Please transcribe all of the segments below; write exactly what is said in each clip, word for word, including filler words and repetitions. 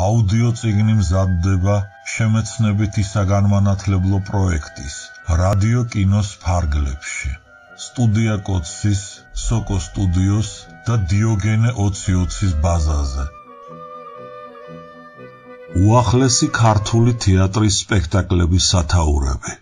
აუდიო წიგნი მზადდება შემეცნებითი საგანმანათლებლო პროექტის რადიო კინოს ფარგლებში. სტუდია კოცის, სოკო სტუდიოს და დიოგენე ოცი ოცის ბაზაზე. უახლესი ქართული თეატრის სპექტაკლების სათაურები.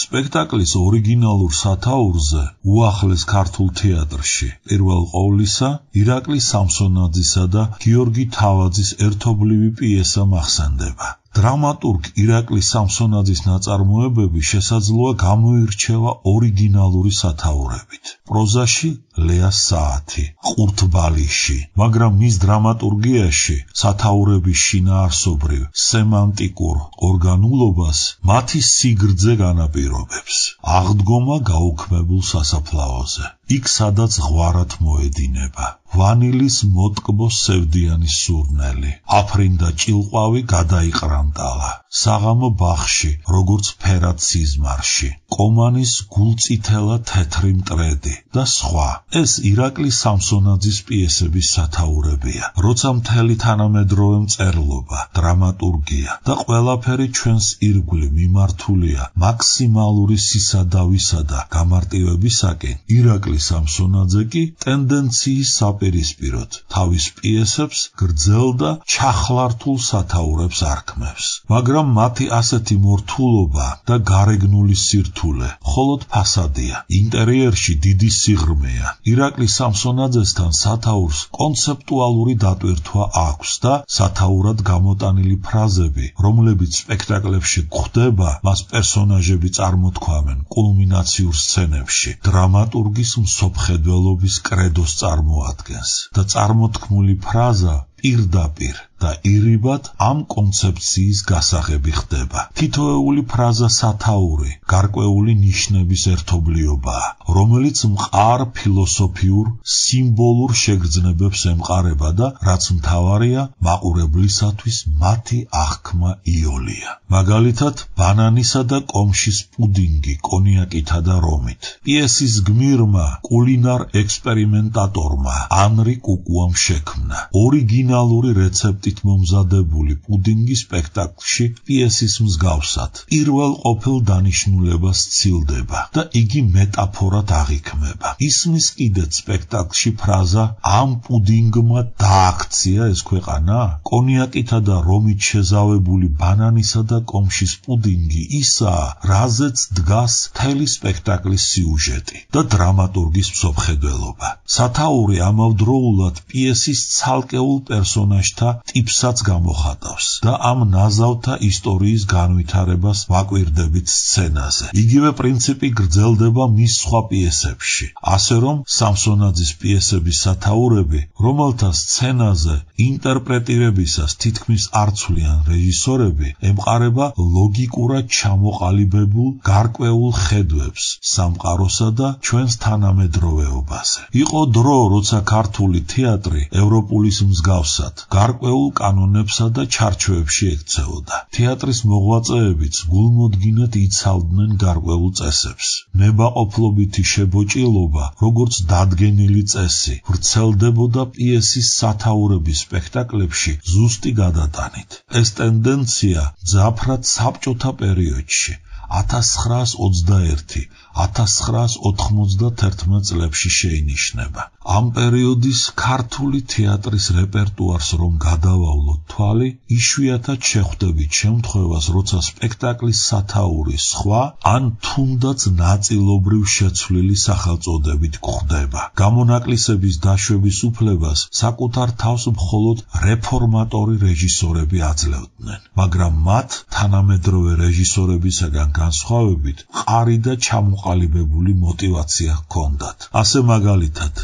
სპექტაკლის ორიგინალურ სათაურზე უახლეს ქართულ თეატრში პირველ ყოვლისა ირაკლი სამსონაძისა და გიორგი თავაძის ერთობლივი პიესა მახსენდება. დრამატურგ ირაკლი სამსონაძის ნაწარმოებები შესაძლოა გამოირჩევა ორიგინალური სათაურებით. პროზაში ლეას საათი, ყურთბალიში, მაგრამ მის დრამატურგიაში სათაურების შინაარსობრივ სემანტიკურ ორგანულობას მათი სიგრძე განაპირობებს. აღდგომა გაუქმებულ სასაფლაოზე. იქ სადაც ღვარად მოედინება. ვანილის მოტკბო სევდიანი სურნელი, აფრინდა ჭილყვავი გადაიყრანტალა, საღამო ბაღში, როგორც ფერად სიზმარში, კომანის გულწითელა თეთრი მტრედი და სხვა. ეს ირაკლი სამსონაძის პიესების სათაურებია, როცა მთელი თანამედროვე მწერლობა, დრამატურგია და ყველაფერი ჩვენს ირგვლივ მიმართულია მაქსიმალური სისადავისა და გამარტივებისაკენ, ირაკლი სამსონაძე კი ტენდენციის საპირისპიროდ თავის პიესებს გრძელ და ჩახლართულ სათაურებს არქმევს. მაგრამ მათი ასეთი მორთულობა და გარეგნული სირთულე მხოლოდ ფასადია. ინტერიერში დიდი სიღრმეა. ირაკლი სამსონაძესთან სათაურს კონცეპტუალური დატვირთვა აქვს და სათაურად გამოტანილი ფრაზები, რომლებიც სპექტაკლებში გვხვდება, მას პერსონაჟები წარმოთქვამენ კულმინაციურ სცენებში, დრამატურგის მსოფხედველობის კრედოს წარმოადგენს და წარმოთქმული ფრაზა პირდაპირ და ირიბად ამ კონცეფციის გასაღები ხდება. თითოეული ფრაზა სათაური, გარკვეული ნიშნების ერთობლიობაა, რომელიც მყარ ფილოსოფიურ, სიმბოლურ შეგრძნებებს ემყარება და რაც მთავარია, მაყურებლისათვის მათი აღქმა იოლია. მაგალითად, ბანანისა და კომშის პუდინგი კონიაკითა და რომით. პიესის გმირმა, კულინარ ექსპერიმენტატორმა ანრი კუკუამ შექმნა. ორიგინალური რეცეპტით მომზადებული პუდინგი სპექტაკლში პიესის მსგავსად პირველ ყოფილ დანიშნულებას სცილდება და იგი მეტაფორად აღიქმება. ისმის კიდეც სპექტაკლში ფრაზა ამ პუდინგმა დააქცია ეს ქვეყანა? კონიაკითა და რომით შეზავებული ბანანისა და კომშის პუდინგი ისაა, რაზეც დგას მთელი სპექტაკლის სიუჟეტი და დრამატურგის მსოფხედველობა. სათაური ამავდროულად პიესის ცალკეულ პერსონაჟთა ტიპსაც გამოხატავს და ამ ნაზავთა ისტორიის განვითარებას ვაკვირდებით სცენაზე. იგივე პრინციპი გრძელდება მის სხვა პიესებში, ასე რომ სამსონაძის პიესების სათაურები, რომელთა სცენაზე ინტერპრეტირებისას თითქმის არ ცვლიან რეჟისორები, ემყარება ლოგიკურად ჩამოყალიბებულ გარკვეულ ხედვებს სამყაროსა და ჩვენს თანამედროვეობაზე. იყო დრო, როცა ქართული თეატრი ევროპულის მსგავსად გარკვეულ კანონებსა და ჩარჩოებში ექცეოდა. თეატრის მოღვაწეებიც გულმოდგინედ იცავდნენ გარკვეულ წესებს. ნებაყოფლობითი შებოჭილობა, როგორც დადგენილი წესი, ვრცელდებოდა პიესის სათაურების სპექტაკლებში ზუსტი გადატანით. ეს ტენდენცია მძაფრად საბჭოთა პერიოდში ათას ცხრაას ოცდაერთი ათას ცხრაას ოთხმოცდათერთმეტ წლებში შეინიშნება. ამ პერიოდის ქართული თეატრის რეპერტუარს რომ გადავავლოთ თვალი, იშვიათად შეხვდებით შემთხვევას, როცა სპექტაკლის სათაური სხვა ან თუნდაც ნაწილობრივ შეცვლილი სახელწოდებით გვხვდება. გამონაკლისების დაშვების უფლებას საკუთარ თავს მხოლოდ რეფორმატორი რეჟისორები აძლევდნენ, მაგრამ მათ თანამედროვე რეჟისორებისაგან განსხვავებით მყარი და ჩამოყალიბებული მოტივაცია ჰქონდათ. ასე მაგალითად,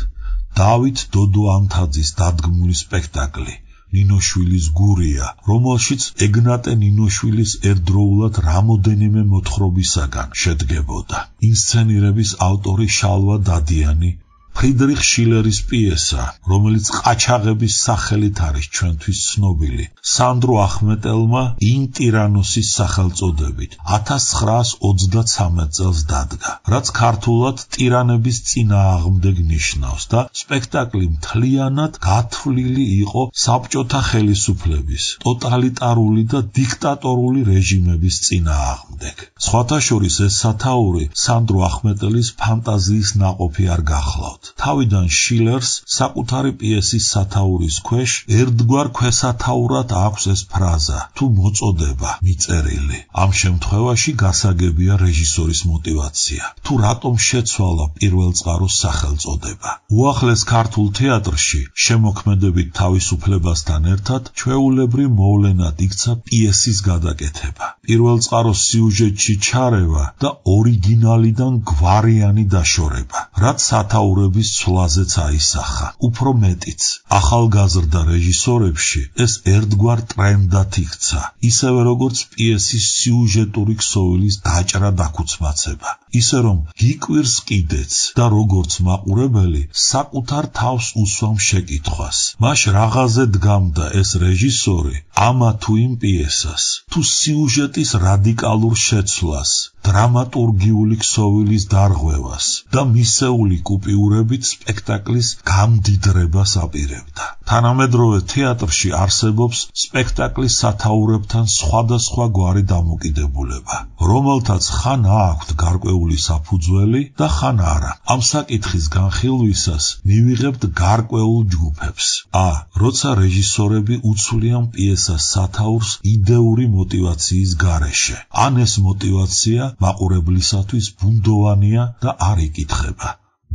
დავით დოდო ანთაძის დადგმული სპექტაკლი ნინოშვილის გურია, რომელშიც ეგნატე ნინოშვილის ერთდროულად რამოდენიმე მოთხრობისაგან შედგებოდა. ინსცენირების ავტორი შალვა დადიანი ფრიდრიხ შილერის პიესა, რომელიც ყაჩაღების სახელით არის ჩვენთვის ცნობილი, სანდრო ახმეტელმა „ინ ტირანოსის“ სახელწოდებით ათას ცხრაას ოცდაცამეტ წელს დადგა, რაც ქართულად ტირანების წინააღმდეგ ნიშნავს და სპექტაკლი მთლიანად გათვლილი იყო საბჭოთა ხელისუფლების, ტოტალიტარული და დიქტატორული რეჟიმების წინააღმდეგ. სხვათა შორის ეს სათაური სანდრო ახმეტელის ფანტაზიის ნაყოფი არ გახლავთ. თავიდან შილერს საკუთარი პიესის სათაურის ქვეშ ერთგვარ ქვესათაურად აქვს ეს ფრაზა თუ მოწოდება მიწერილი. ამ შემთხვევაში გასაგებია რეჟისორის მოტივაცია. თუ რატომ შეცვალა პირველწყაროს სახელწოდება. უახლეს ქართულ თეატრში შემოქმედებით თავისუფლებასთან ერთად ჩვეულებრივ მოვლენად იქცა პიესის გადაკეთება. პირველწყაროს სიუჟეტში ჩარევა და ორიგინალიდან გვარიანი დაშორება, რაც სათაურების ცვლაზეც აისახა. უფრო მეტიც, ახალგაზრდა რეჟისორებში ეს ერთგვარ ტრენდად იქცა, ისევე როგორც პიესის სიუჟეტური ქსოვილის დაჭრა დაქუცმაცება. ისე რომ გიკვირს კიდეც და როგორც მაყურებელი საკუთარ თავს უსვამ შეკითხვას. მაშ რაღაცე დგამდა ეს რეჟისორი ამა თუ იმ პიესას, თუ სიუჟეტის რადიკალურ შეცვლას, დრამატურგიული ქსოვილის დარღვევას და მისეული კუპიურებით სპექტაკლის გამდიდრებას აპირებდა. თანამედროვე თეატრში არსებობს სპექტაკლის სათაურებთან სხვადასხვა გვარი დამოკიდებულება, რომელთაც ხან აქვთ გარკვეული საფუძველი და ხან არა. ამ საკითხის განხილვისას მივიღებთ გარკვეულ ჯგუფებს. ა. როცა რეჟისორები უცვლიან პიესას სათაურს იდეური მოტივაციის გარეშე, ან ეს მოტივაცია მაყურებლისათვის ბუნდოვანია და არ იკითხება.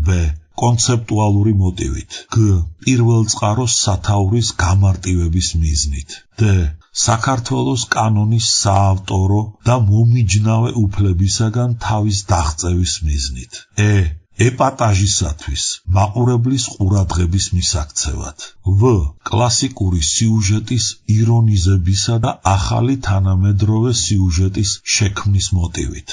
ბ. კონცეპტუალური მოტივით. გ. პირველწყაროს სათაურის გამარტივების მიზნით. დ. საქართველოს კანონის საავტორო და მომიჯნავე უფლებისაგან თავის დაღწევის მიზნით. ე. ეპატაჟისათვის, მაყურებლის ყურადღების მისაქცევად. ვ. კლასიკური სიუჟეტის ირონიზებისა და ახალი თანამედროვე სიუჟეტის შექმნის მოტივით.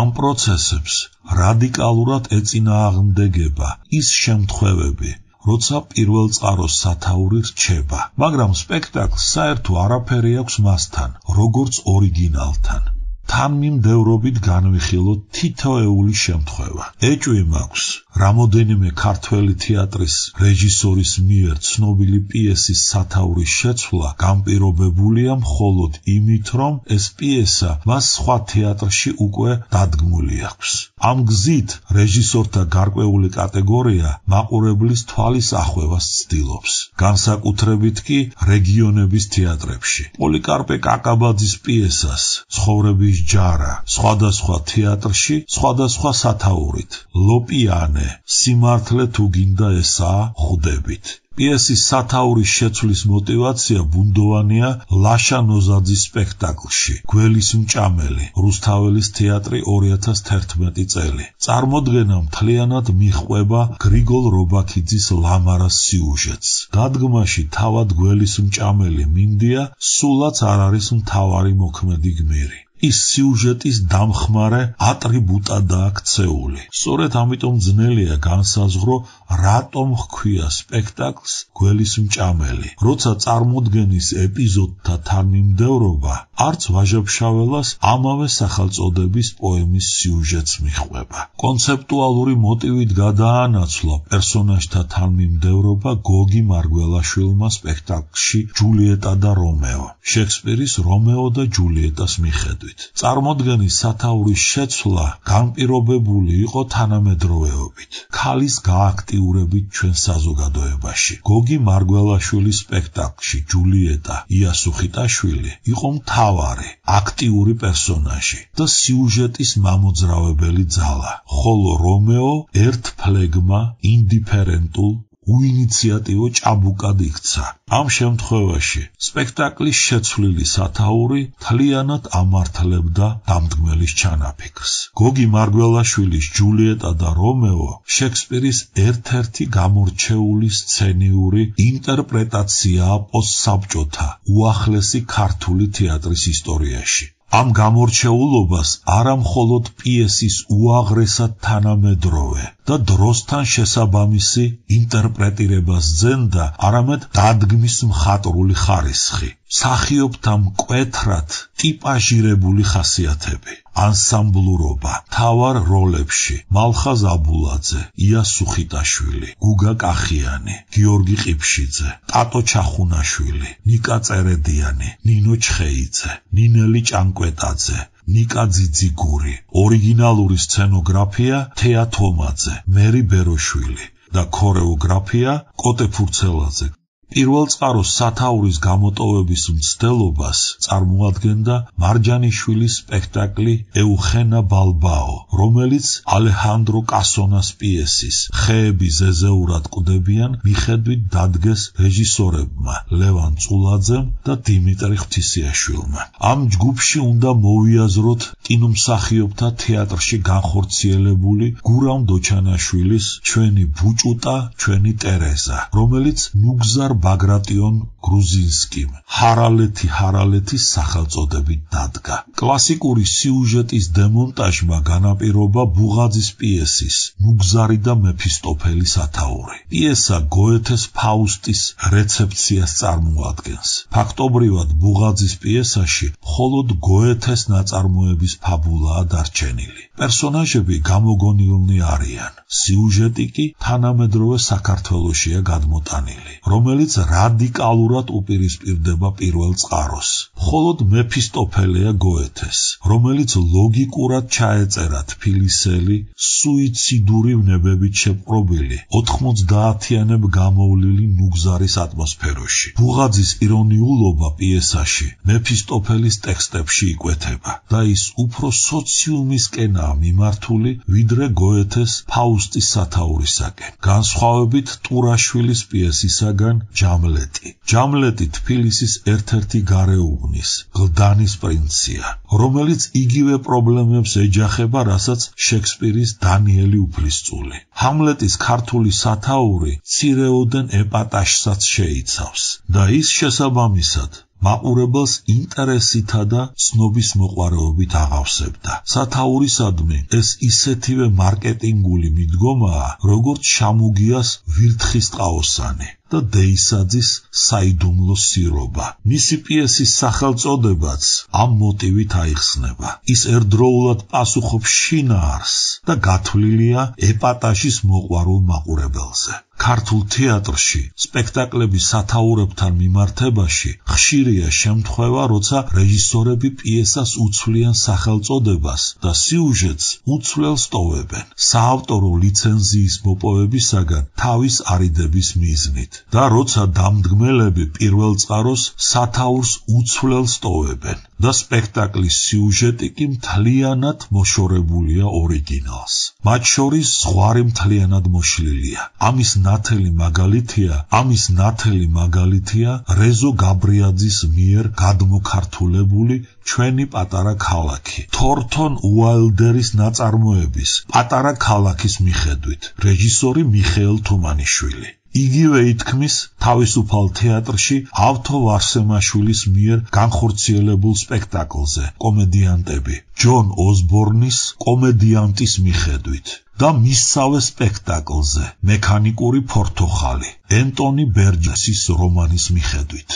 ამ პროცესებს რადიკალურად ეწინააღმდეგება ის შემთხვევები, როცა პირველწყაროს სათაური რჩება, მაგრამ სპექტაკლს საერთო არაფერი აქვს მასთან, როგორც ორიგინალთან. თანმიმდევრობით განვიხილოთ თითოეული შემთხვევა. ეჭვი მაქვს რამოდენიმე ქართველი თეატრის რეჟისორის მიერ ცნობილი პიესის სათაურის შეცვლა განპირობებულია მხოლოდ იმით, რომ ეს პიესა მას სხვა თეატრში უკვე დადგმული აქვს. ამ გზით რეჟისორთა გარკვეული კატეგორია მაყურებლის თვალის ახვევას ცდილობს, განსაკუთრებით კი რეგიონების თეატრებში. პოლიკარპე კაკაბაძის პიესას ცხოვრების ჯარა სხვადასხვა თეატრში სხვადასხვა სათაურით. ლოპიანე, სიმართლე თუ გინდა ესაა, ხვდებით. პიესის სათაურის შეცვლის მოტივაცია ბუნდოვანია ლაშა ნოზაძის სპექტაკლში გველის მჭამელი, რუსთაველის თეატრი ორი ათას თერთმეტი წელი. წარმოდგენა მთლიანად მიჰყვება გრიგოლ რობაქიძის ლამარას სიუჟეტს. დადგმაში თავად გველის მჭამელი მინდია სულაც არ არის მთავარი მოქმედი გმირი. ის სიუჟეტის დამხმარე ატრიბუტადაა ქცეული. სწორედ ამიტომ ძნელია განსაზღვრო, რატომ ჰქვია სპექტაკლს გველის მჭამელი, როცა წარმოდგენის ეპიზოდთა თანმიმდევრობა არც ვაჟა-ფშაველას ამავე სახელწოდების პოემის სიუჟეტს მიჰყვება. კონცეპტუალური მოტივით გადაანაცვლა პერსონაჟთა თანმიმდევრობა გოგი მარგველაშვილმა სპექტაკლში ჯულიეტა და რომეო, შექსპირის რომეო და ჯულიეტას მიხედვით. წარმოდგენის სათაურის შეცვლა განპირობებული იყო თანამედროვეობით, ქალის გააქტიურებით ჩვენ საზოგადოებაში. გოგი მარგველაშვილის სპექტაკლში ჯულიეტა იასუ ხიტაშვილი იყო მთავარი, აქტიური პერსონაჟი და სიუჟეტის მამოძრავებელი ძალა, ხოლო რომეო ერთფლეგმა, ინდიფერენტულ, უინიციატივო ჭაბუკად იქცა. ამ შემთხვევაში სპექტაკლის შეცვლილი სათაური მთლიანად ამართლებდა დამდგმელის ჩანაფიქრს. გოგი მარგველაშვილის ჯულიეტა და რომეო შექსპირის ერთ-ერთი გამორჩეული სცენიური ინტერპრეტაციაა პოსტსაბჭოთა უახლესი ქართული თეატრის ისტორიაში. ამ გამორჩეულობას არა მხოლოდ პიესის უაღრესად თანამედროვე და დროსთან შესაბამისი ინტერპრეტირებას ძენდა, არამედ დადგმის მხატვრული ხარისხი, მსახიობთა მკვეთრად ტიპაჟირებული ხასიათები, ანსამბლურობა, მთავარ როლებში მალხაზ აბულაძე, ია სუხიტაშვილი, გუგა კახიანი, გიორგი ყიფშიძე, ტატო ჩახუნაშვილი, ნიკა წერედიანი, ნინო ჩხეიძე, ნინელი ჭანკვეტაძე, ნიკა ძიძიგური, ორიგინალური სცენოგრაფია თეა თომაძე, მერი ბეროშვილი და ქორეოგრაფია კოტე ფურცელაძე. პირველ წყაროს სათაურის გამოტოვების მცდელობას წარმოადგენდა მარჯანიშვილის სპექტაკლი ეუხენა ბალბაო, რომელიც ალეხანდრო კასონას პიესის ხეები ზეზეურად კვდებიან მიხედვით დადგეს რეჟისორებმა ლევან წულაძემ და დიმიტრი ღვთისიაშვილმა. ამ ჯგუფში უნდა მოვიაზროთ კინომსახიობთა თეატრში განხორციელებული გურამ დოჩანაშვილის ჩვენი ბუჭუტა, ჩვენი ტერეზა, რომელიც ნუგზარ ბაგრატიონ გრუზინსკიმ ჰარალეთი ჰარალეთის სახელწოდებით დადგა. კლასიკური სიუჟეტის დემონტაჟმა განაპირობა ბუღაძის პიესის ნუგზარი და მეფისტოფელი სათაური. პიესა გოეთეს ფაუსტის რეცეფციას წარმოადგენს. ფაქტობრივად ბუღაძის პიესაში მხოლოდ გოეთეს ნაწარმოების ფაბულაა დარჩენილი. პერსონაჟები გამოგონილნი არიან. სიუჟეტი კი თანამედროვე საქართველოშია გადმოტანილი, რომელიც რადიკალურად უპირისპირდება პირველ წყაროს. მხოლოდ მეფისტოფელეა გოეთეს, რომელიც ლოგიკურად ჩაეწერა თბილისელი, სუიციდური ვნებებით შეპყრობილი, ოთხმოცდაათიანებ გამოვლილი ნუგზარის ატმოსფეროში. ბუღაძის ირონიულობა პიესაში მეფისტოფელის ტექსტებში იკვეთება და ის უფრო სოციუმისკენაა მიმართული, ვიდრე გოეთეს ფაუსტის სათაურისაკენ. განსხვავებით ტურაშვილის პიესისაგან ჯამლეტი. ჯამლეტი თბილისის ერთ-ერთი გარეუბნის, გლდანის პრინცია, რომელიც იგივე პრობლემებს ეჯახება, რასაც შექსპირის დანიელი უფლისწული. ჰამლეტის ქართული სათაური მცირეოდენ ეპატაჟსაც შეიცავს და ის შესაბამისად მაყურებელს ინტერესითა და ცნობის მოყვარეობით აღავსებდა. სათაურისადმი ეს ისეთივე მარკეტინგული მიდგომაა, როგორც შამუგიას ვირთხის ტყაოსანი და დეისაძის საიდუმლო სირობა. მისი პიესის სახელწოდებაც ამ მოტივით აიხსნება. ის ერთდროულად პასუხობს შინაარსს და გათვლილია ეპატაჟის მოყვარულ მაყურებელზე. ქართულ თეატრში სპექტაკლების სათაურებთან მიმართებაში ხშირია შემთხვევა, როცა რეჟისორები პიესას უცვლიან სახელწოდებას და სიუჟეტს უცვლელს ტოვებენ, საავტორო ლიცენზიის მოპოვებისაგან თავის არიდების მიზნით. და როცა დამდგმელები პირველ წყაროს სათაურს უცვლელს ტოვებენ და სპექტაკლის სიუჟეტი კი მთლიანად მოშორებულია ორიგინალს. მათ შორის ზღვარი მთლიანად მოშლილია. ამის ნათელი მაგალითია, ამის ნათელი მაგალითია რეზო გაბრიაძის მიერ გადმოქართულებული ჩვენი პატარა ქალაქი. თორთონ უაილდერის ნაწარმოების პატარა ქალაქის მიხედვით, რეჟისორი მიხეილ თუმანიშვილი. იგივე ითქმის თავისუფალ თეატრში ავთო ვარსემაშვილის მიერ განხორციელებულ სპექტაკლზე კომედიანტები ჯონ ოსბორნის კომედიანტის მიხედვით და მისსავე სპექტაკლზე მექანიკური ფორთოხალი ენტონი ბერჯესის რომანის მიხედვით.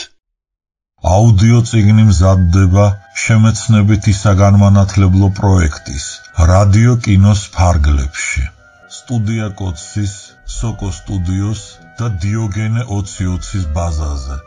აუდიო წიგნი მზადდება შემეცნებითი საგანმანათლებლო პროექტის რადიო კინოს ფარგლებში. სტუდია კოცის, სოკო სტუდიოს და დიოგენე ოცი ოცის ბაზაზე.